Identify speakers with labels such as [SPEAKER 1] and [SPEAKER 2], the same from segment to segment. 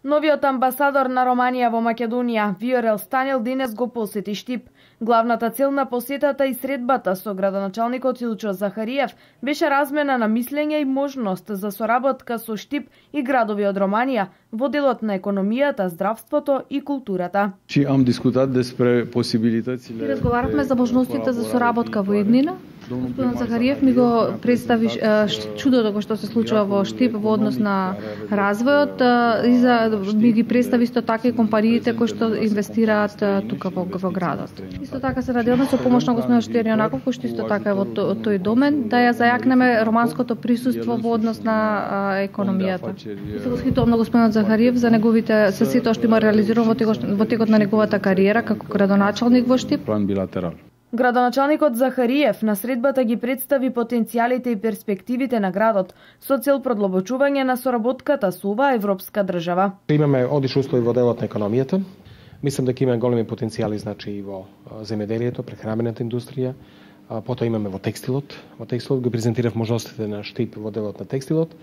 [SPEAKER 1] Новиот амбасадор на Романија во Македонија, Виорел Станел, денес го посети Штип. Главната цел на посетата и средбата со градоначалникот Илчо Захариев беше размена на мислење и можност за соработка со Штип и градови од Романија во делот на економијата, здравството и културата.
[SPEAKER 2] Разговаравме за можностите за соработка во иднина. Господин Захариев ми го представи чудото кој што се случува во Штип во однос на развојот и ми ги представи исто така и компаниите кои што инвестираат тука во градот. Исто така се наделме со помош на господин Штерионаков, кој што исто така е во тој домен, да ја зајакнеме романското присуство во однос на економијата. Се восхитувам на господин Захариев за неговите се сето што има реализирано во текот на неговата кариера како градоначалник во Штип.
[SPEAKER 3] План билатерал.
[SPEAKER 1] Градоначалникот Захариев на средбата ги представи потенцијалите и перспективите на градот со цел продлабочување на соработката со оваа европска држава.
[SPEAKER 4] Имаме одлични услови во делот на економијата. Мислам дека има големи потенцијали и во земеделието, прехранбената индустрија. Потоа имаме во текстилот. Во текстилот го презентирав можностите на Штип во делот на текстилот.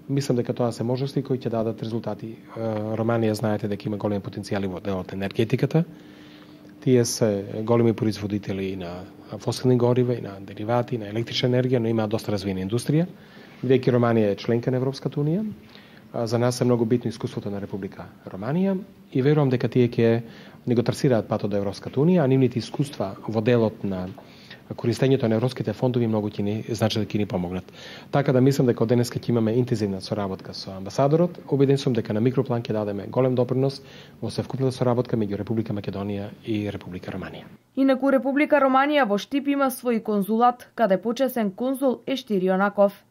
[SPEAKER 4] Мислам дека тоа се можности кои ќе дадат резултати. Романија знаете дека има големи потенцијали во делот на енергетиката. Тие се големи производители на фосилни горива и на деривати, на електрична енергија, но имаат доста развиена индустрија. Бидејќи Романија е членка на Европската унија, за нас е многу битно искуството на Република Романија и верувам дека тие ќе ни го трасираат патот до Европската унија, а нивните искуства во делот на користењето на европските фондови многу ќе ни значи да ќе ни помогнат. Така да мислам дека од денеска ќе имаме интензивна соработка со амбасадорот. Убеден сум дека на микроплан ќе дадеме голем допринос во севкупната соработка меѓу Република Македонија и Република Романија.
[SPEAKER 1] Инаку Република Романија во Штип има свој конзулат, каде почесен конзул е Штирионаков.